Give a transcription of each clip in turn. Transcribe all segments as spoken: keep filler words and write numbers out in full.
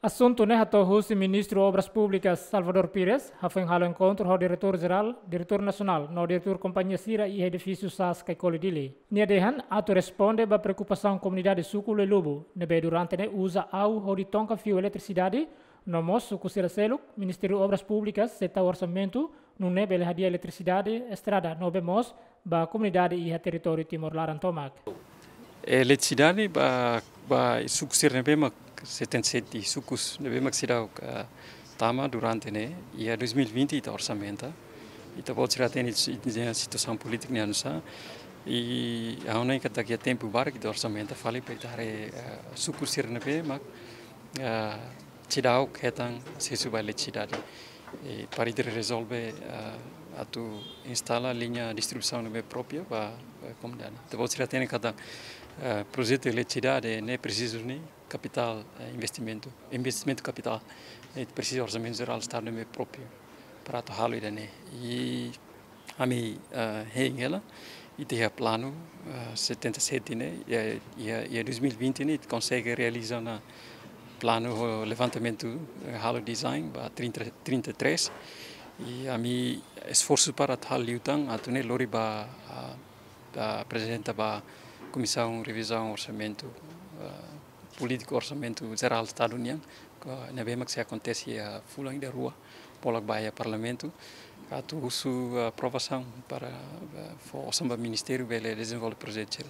Asuntu ne'e hato'o husi Ministru Obras Públikas Salvador Pires, hafoin halo enkontru ho Diretór Jerál, Diretór Nasionál, no diretór kompañia sira iha edifísiu sas Caicoli Dili. Nia dehan atu responde ba preokupasaun komunidade suku Luelubu, ne'ebé durante ne'e uza awu hodi tonka fiu eletrisidade, no mós suku sira seluk, Ministériu Obras Públikas sei tau orsamentu, nune'e bele hadi'a eletrisidade, estrada, no be mós ba komunidade iha territóriu Timor laran tomak. Eletrisidade ba, ba suku sira ne'ebé mak setenta e sete sukus ne'ebé mak seidauk tama durante ne'e, iha dois mil e vinte ita orsamenta. Ita-boot sira hatene si-, situasaun polítika ne'e oinsá. I ha'u hanoin katak iha tempu barak ita orsamenta fali para ita haree, eh, suku sira ne'ebé mak, eh, seidauk hetan asesu ba eletrisidade. I para ita rezolve, eh, atu instala liña distribuisaun ne'ebé própria ba, ba komunidade. Ita-boot sira hatene katak, eh, projetu eletrisidade ne'e presiza husi kapitál, eh, investimentu, investimentu kapitál. I presiza orsamentu jerál Estadu ne'ebé própriu para atu halo ida-ne'e. I ami, eh, hein hela, ita iha planu, eh, setenta e sete ne'e, iha, iha, iha dois mil e vinte ne'e, ita konsege realiza ona planu ho levantamentu, eh, halo design ba trinta, trinta e três. I ami esforsu para atu halo liután, atu nune'e lori ba, ah, ba aprezenta ba Komisaun Revizaun Orsamentu, ah, Polítika Orsamentu Jerál Estadu nian, ka ne'ebé mak sei akontese iha fulan ida rua, bolu ba iha Parlamentu, atu husu aprovasaun para, ah, fó osan ba Ministériu bele dezenvolve projetu sira.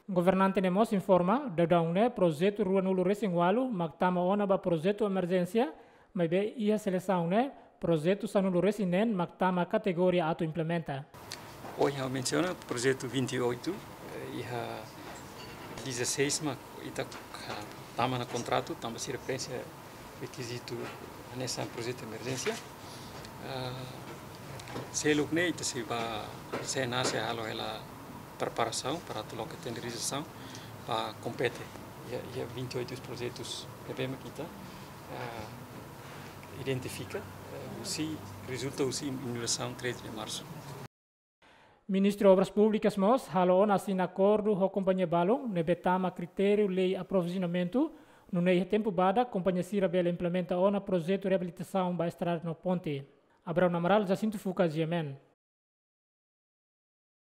Governante ne'e mós informa, daudaun ne'e projetu ruanulu-resin-ualu mak tama ona ba projetu emerjénsia, maibé iha selesaun ne'e projetu sanulu-resin-neen mak tama kategoria atu implementa. Ohin ha'u mensiona projetu vinte e oito, eh, iha dezasseis mak ita, ah, tama ona kontratu, tanba sira preenxe rekizitu hanesan projetu emerjénsia. Ah, seluk ne'e ita sei ba C N A sei halo hela preparasaun para atu loke tenderizasaun para kompete iha, iha vinte e oito projetus ne'ebé mak ita, ah, identifika, eh, husi, rezulta husi inaugurasaun treze de março. Ministru Obras Públikas mós halo ona asina akordu ho kompañia balun ne'ebé tama kritériu lei aprovizionamentu, nune'e iha tempu badak kompañia sira bele implementa ona projetu reabilitasaun ba estrada no ponte. Abraão Amaral, Jacinto Fuca, G M N.